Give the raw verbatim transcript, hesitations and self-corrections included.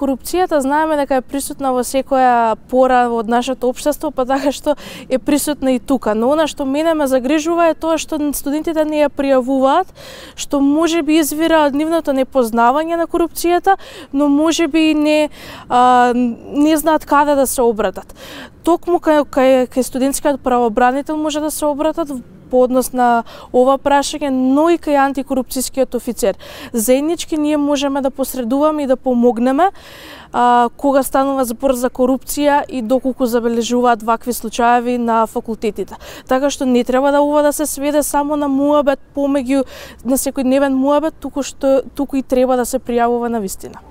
корупцијата знаеме дека е присутна во секоја пора од нашето општество, па така што е присутна и тука. Но она што мене ме загрижува е тоа што студентите не ја пријавуваат, што можеби извира од нивното непознавање на корупцијата, но можеби и не а, не знаат каде да се обратат. Токму кај, кај, кај студентскиот правобранител може да се обратат по однос на ова прашање, но и кај антикорупцијскиот офицер. Заеднички ние можеме да посредуваме и да помогнеме а, кога станува збор за корупција и доколку забележуваат вакви случаеви на факултетите. Така што не треба да ова да се сведе само на муабет помеѓу на секојдневен муабет, туку што туку и треба да се пријавува на вистина.